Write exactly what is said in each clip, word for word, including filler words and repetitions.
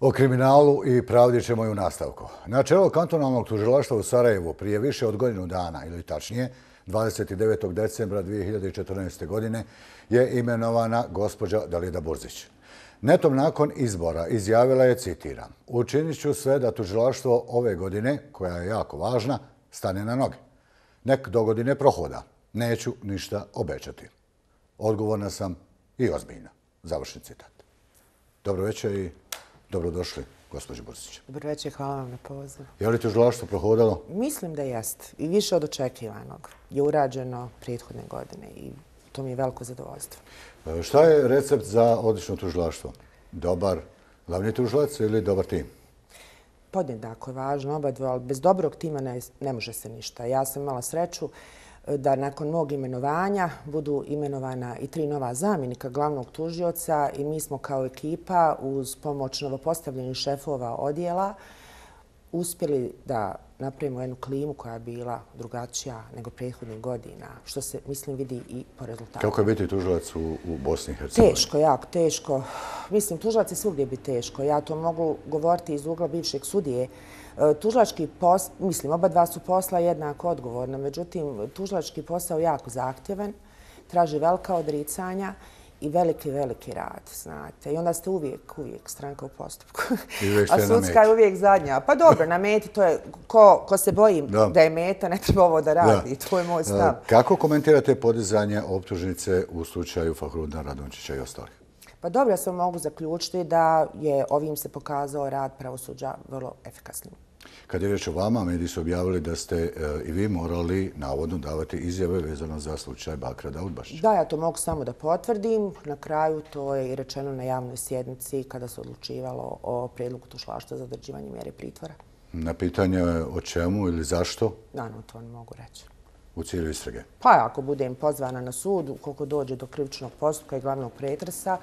O kriminalu i pravdi ćemo i u nastavku. Na čelo kantonalnog tužilaštva u Sarajevu prije više od godinu dana, ili tačnije, dvadeset devetog decembra dvije hiljade četrnaeste. godine, je imenovana gospođa Dalida Burzić. Netom nakon izbora izjavila je, citiram, učinit ću sve da tužilaštvo ove godine, koja je jako važna, stane na noge. Nek do godine prohoda. Neću ništa obećati. Odgovorna sam i ozbiljna. Završni citat. Dobro večer i dobrodošli, gospođo Burzić. Dobro večer, hvala vam na pozivu. Je li tužilaštvo prohodalo? Mislim da jest. I više od očekivanog je urađeno prethodne godine i to mi je veliko zadovoljstvo. Šta je recept za odlično tužilaštvo? Dobar glavni tužilac ili dobar tim? Podjednako je važno oba dva, ali bez dobrog tima ne, ne može se ništa. Ja sam imala sreću da nakon mog imenovanja budu imenovana i tri nova zamjenika glavnog tužioca i mi smo kao ekipa uz pomoć novopostavljenih šefova odjela uspjeli da napravimo jednu klimu koja je bila drugačija nego prethodnih godina, što se, mislim, vidi i po rezultatu. Kako je biti tužilac u, u Bosni i Hercegovini? Teško, jako teško. Mislim, tužilac je svugdje biti teško. Ja to mogu govoriti iz ugla bivšeg sudije. Tužilački posao, mislim, oba dva su posla jednako odgovorna, međutim, tužilački posao je jako zahtjevan, traži velika odricanja i veliki, veliki rad, znate. I onda ste uvijek, uvijek stranka u postupku. A sudska je uvijek zadnja. Pa dobro, na meti to je, ko, ko se boji da. da je meta, ne treba ovo da radi. Da. To je moj stav. Kako komentirate podizanje optužnice u slučaju Fahrudina Radončića i ostalih? Pa dobro, ja sam mogu zaključiti da je ovim se pokazao rad pravosuđa vrlo efikasnim. Kad je riječ o vama, mediji su objavili da ste e, i vi morali navodno davati izjave vezano za slučaj Bakra Daudbašića. Da, ja to mogu samo da potvrdim. Na kraju to je i rečeno na javnoj sjednici kada se odlučivalo o prijedlogu tužilaštva za određivanje mjere pritvora. Na pitanje o čemu ili zašto? Naravno, to ne mogu reći. U cilju istrage? Pa ako budem pozvana na sud, ukoliko dođe do krivičnog postupka i glavnog pretresa,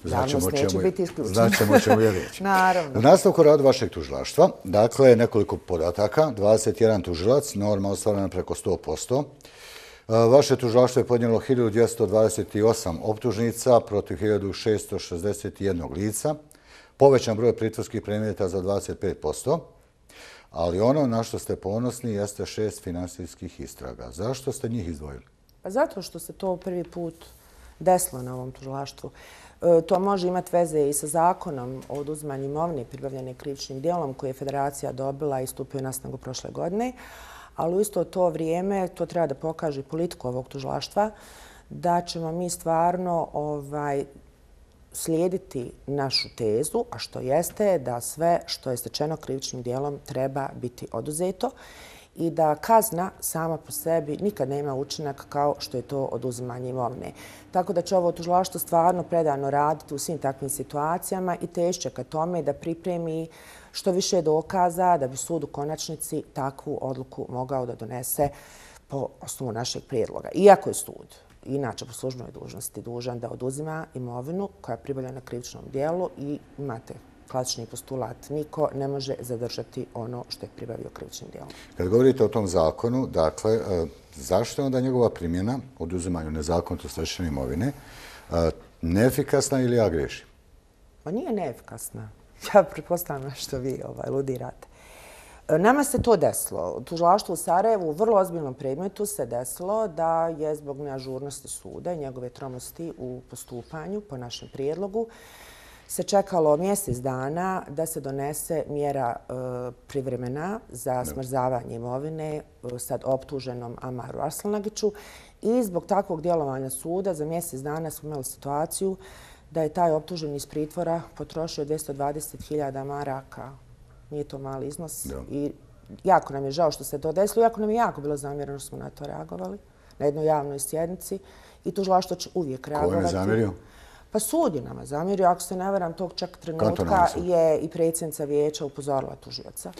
javnost neće biti isključena. Znaćemo o čemu je riječ. Naravno. U nastavku rada vašeg tužilaštva, dakle, nekoliko podataka, dvadeset jedan tužilac, norma ostvarena preko sto posto. Vaše tužilaštvo je podnijelo hiljadu dvjesto dvadeset osam optužnica protiv hiljadu šesto šezdeset jedan lica, povećan broj pritvorskih predmeta za dvadeset pet posto, ali ono na što ste ponosni jeste šest finansijskih istraga. Zašto ste njih izdvojili? Pa zato što se to prvi put desilo na ovom tužilaštvu. To može imati veze i sa zakonom o oduzimanju imovine pribavljene krivičnim djelom koje je federacija dobila i stupio na snagu prošle godine, ali u isto to vrijeme to treba da pokaže politiku ovog tužilaštva da ćemo mi stvarno ovaj, slijediti našu tezu, a što jeste da sve što je stečeno krivičnim djelom treba biti oduzeto i da kazna sama po sebi nikad nema učinak kao što je to oduzimanje imovine. Tako da će ovo tužilaštvo stvarno predano raditi u svim takvim situacijama i težće ka tome da pripremi što više dokaza da bi sud u konačnici takvu odluku mogao da donese po osnovu našeg prijedloga. Iako je sud, inače po službenoj dužnosti, dužan da oduzima imovinu koja je pribavljena na krivičnom djelu i imate klasični postulat. Niko ne može zadržati ono što je pribavio krivičnim djelom. Kad govorite o tom zakonu, dakle, zašto je onda njegova primjena oduzimanju nezakonito stečene imovine neefikasna ili ja grešim? Pa nije neefikasna. Ja pretpostavljam što vi ovaj, ludirate. Nama se to desilo. U tužilaštvu u Sarajevu u vrlo ozbiljnom predmetu se desilo da je zbog neažurnosti suda i njegove tromosti u postupanju po našem prijedlogu se čekalo mjesec dana da se donese mjera e, privremena za smrzavanje imovine sad optuženom Amaru Arslanagiću i zbog takvog djelovanja suda za mjesec dana smo imali situaciju da je taj optuženi iz pritvora potrošio dvjesto dvadeset hiljada maraka. Nije to mali iznos. Da. I jako nam je žao što se to desilo. Jako nam je jako bilo zamjereno što smo na to reagovali na jednoj javnoj sjednici i tužilaštvo će uvijek reagovati. Ko je ne zamjerio? Pa sud je nama zamjerio. Ako se ne varam, tog čak trenutka je i predsjednica vijeća upozorila tužioca.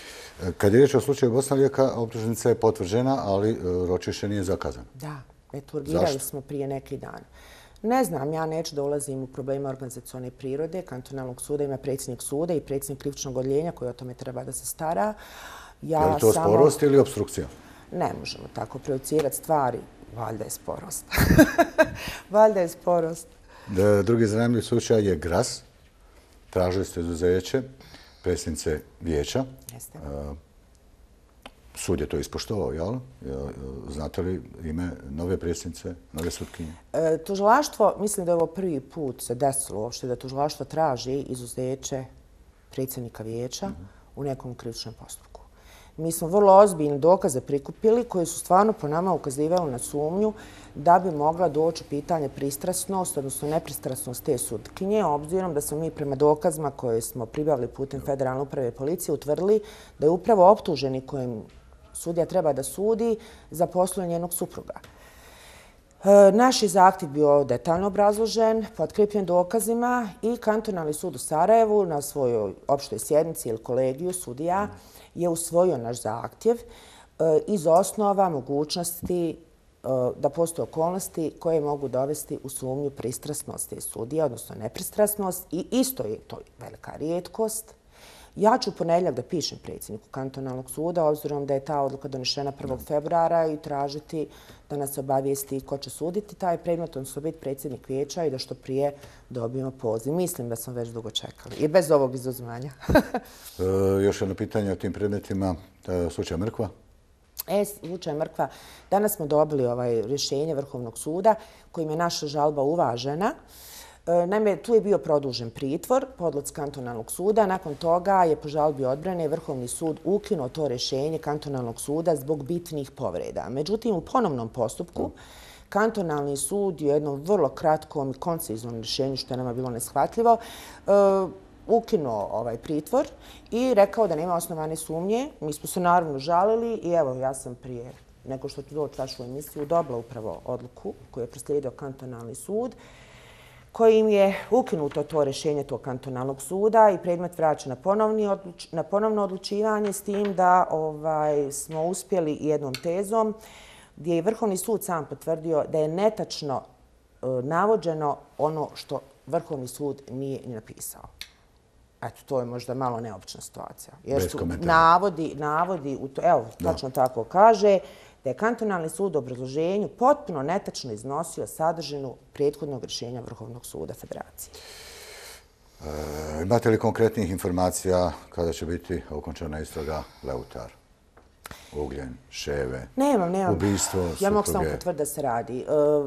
Kad je riječ o slučaju Bosna Lijeka, optužnica je potvrđena, ali ročište nije zakazano. Da, eto, urgirali smo prije neki dan. Ne znam, ja neću da ulazim u probleme organizacione prirode. Kantonalnog suda ima predsjednik suda i predsjednik krivičnog odjeljenja koji o tome treba da se stara. Ja je li to samo... sporost ili obstrukcija? Ne možemo tako projicirati stvari. Valjda je sporost. Valjda je sporost. Drugi zanimljiv slučaj je Gras. tražili ste izuzeće predsjednice vijeća. Jeste. Sud je to ispoštovao, jel? Znate li ime nove predsjednice, nove sutkinje? E, tužilaštvo, mislim da je ovo prvi put se desilo uopšte da tužilaštvo traži izuzeće predsjednika vijeća mm-hmm. u nekom krivičnom postupku. Mi smo vrlo ozbiljne dokaze prikupili koji su stvarno po nama ukazivali na sumnju da bi mogla doći u pitanje pristrasnost, odnosno nepristrasnost te sutkinje, obzirom da smo mi prema dokazima koje smo pribavili putem Federalne uprave i policije utvrdili da je upravo optuženi kojim sudija treba da sudi za poslu njenog supruga. E, naš je zahtjev bio detaljno obrazložen, potkrijepljen dokazima i Kantonalni sud u Sarajevu na svojoj opštoj sjednici ili kolegiju sudija je usvojio naš zahtjev e, iz osnova mogućnosti e, da postoje okolnosti koje mogu dovesti u sumnju pristrasnosti sudija, odnosno nepristrasnost i isto je to velika rijetkost. Ja ću u ponedjeljak da pišem predsjedniku Kantonalnog suda, obzirom da je ta odluka donešena prvog februara i tražiti da nas obavijesti ko će suditi taj predmet, odnosno biti predsjednik vijeća i da što prije dobijemo poziv. Mislim da smo već dugo čekali i bez ovog izuzmanja. e, još jedno pitanje o tim predmetima. Slučaj Mrkva? E, slučaj Mrkva. Danas smo dobili ovaj rješenje Vrhovnog suda kojim je naša žalba uvažena. Naime, tu je bio produžen pritvor po odluci Kantonalnog suda. Nakon toga je po žalbi odbrane Vrhovni sud ukinuo to rješenje Kantonalnog suda zbog bitnih povreda. Međutim, u ponovnom postupku Kantonalni sud je u jednom vrlo kratkom i konciznom rješenju, što je nama bilo neshvatljivo, ukinuo ovaj pritvor i rekao da nema osnovane sumnje. Mi smo se naravno žalili i evo, ja sam prije nego što ću doći vašu emisiju dobila upravo odluku koju je proslijedio Kantonalni sud, kojim je ukinuto to rješenje tog Kantonalnog suda i predmet vraća na, odluč, na ponovno odlučivanje s tim da ovaj, smo uspjeli jednom tezom gdje je Vrhovni sud sam potvrdio da je netačno e, navođeno ono što Vrhovni sud nije ni napisao. Eto, to je možda malo neobična situacija. Jer su navodi, navodi, u to, evo, tačno tako kaže, da je Kantonalni sud u obrazloženju potpuno netačno iznosio sadržinu prethodnog rješenja Vrhovnog suda Federacije. E, imate li konkretnih informacija kada će biti okončana istraga Leutar? Ugljen, Ševe, nemam, nemam. Ubistvo, supruge? Ja mogu samo potvrditi da se radi.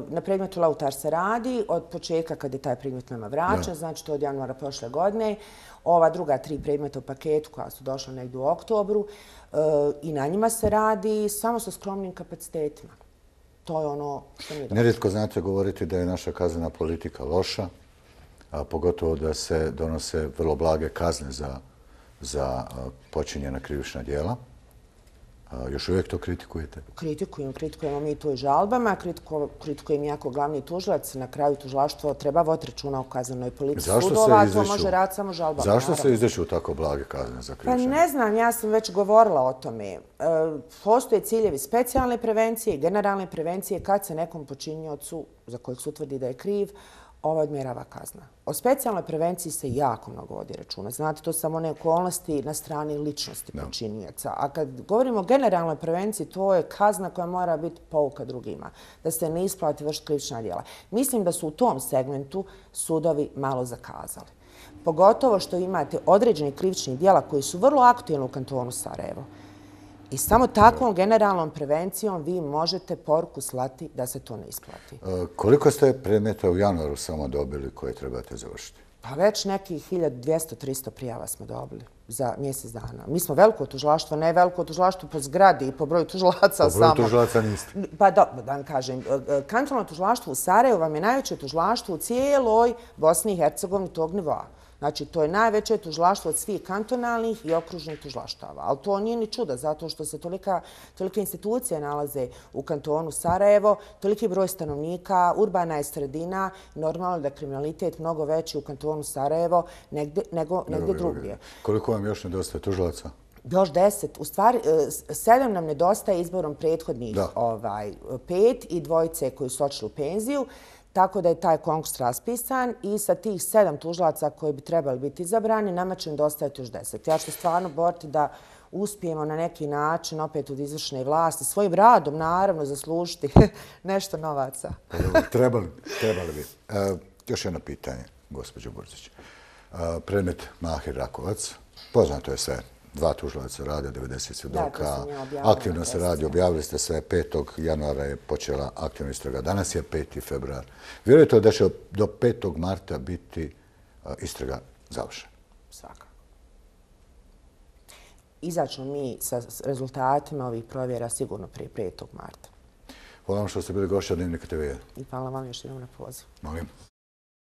Na predmetu Leutar se radi od početka kad je taj predmet nama vraćan, znači to od januara prošle godine. Ova druga tri predmeta u paketu koja su došla negdje u oktobru i na njima se radi samo sa skromnim kapacitetima. To je ono što mi je dobro. Nerijetko znate govoriti da je naša kaznena politika loša, a pogotovo da se donose vrlo blage kazne za, za počinjena krivična djela. Još uvijek to kritikujete? Kritikujem, kritikujemo mi to i žalbama, kritikujem jako glavni tužilac. Na kraju tužilaštvo treba voditi računa o kaznenoj politici sudova, a to može raditi samo žalbama. Zašto se izdeću tako blage kazne za krivične? Pa ne znam, ja sam već govorila o tome. Postoje ciljevi specijalne prevencije i generalne prevencije kad se nekom počiniocu za kojeg se utvrdi da je kriv, ova odmjerava kazna. O specijalnoj prevenciji se jako mnogo vodi računa. Znate, to su samo one okolnosti na strani ličnosti počinioca. A kad govorimo o generalnoj prevenciji, to je kazna koja mora biti pouka drugima. Da se ne isplati vršiti krivična djela. Mislim da su u tom segmentu sudovi malo zakazali. Pogotovo što imate određeni krivičnih djela koji su vrlo aktualni u kantonu Sarajevo. I samo takvom generalnom prevencijom vi možete poruku slati da se to ne isplati. E, koliko ste predmeta u januaru samo dobili koje trebate završiti? Pa već nekih hiljadu dvjesto do tristo prijava smo dobili za mjesec dana. Mi smo veliko tužilaštvo, ne veliko tužilaštvo po zgradi i po broju tužilaca samo. Po broju tužilaca niste? Pa da, da vam kažem, kantonalno tužilaštvo u Sarajevu vam je najveće tužilaštvo u cijeloj Bosni i Hercegovini tog nivoa. Znači, to je najveće tužilaštvo od svih kantonalnih i okružnih tužilaštava. Ali to nije ni čudo, zato što se tolika, tolike institucije nalaze u kantonu Sarajevo, toliki broj stanovnika, urbana je sredina, normalno da je kriminalitet mnogo veći u kantonu Sarajevo negde, nego negdje drugdje. Koliko vam još nedostaje tužilaca? Još deset. U stvari, sedam nam nedostaje izborom prethodnih ovaj, pet i dvojice koji su odšli u penziju. Tako da je taj konkurs raspisan i sa tih sedam tužilaca koji bi trebali biti izabrani, nama će nedostajati još deset. Ja ću stvarno boriti da uspijemo na neki način opet od izvršne vlasti, svojim radom naravno zaslužiti nešto novaca. Trebali, trebali bi. E, još jedno pitanje, gospođo Burzić. predmet Mahir Rakovac. Poznato je sve. Dva tužilaca rade, devedeset svjedoka. Da, to sam ja objavila. Aktivno se radi, objavili ste sve. petog januara je počela aktivna istraga. Danas je peti februar. Vjerujete li da će do petog marta biti istraga završena? Svakako. Izaćemo mi sa rezultatima ovih provjera sigurno prije petog marta. Hvala vam što ste bili gošća Dnevnika te ve. I hvala vam još jednom na poziv. Molim.